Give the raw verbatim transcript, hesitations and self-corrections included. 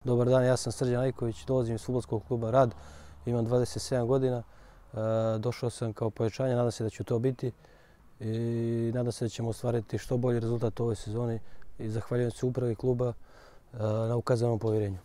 Dobar dan, ja sam Srđan Ajković, dolazim iz fudbalskog kluba Rad, imam dvadeset sedam godina. Došao sam kao pojačanje, nadam se da ću to biti i nadam se da ćemo ostvariti što bolji rezultat u ovoj sezoni i zahvaljujem se upravi kluba na ukazanom povjerenju.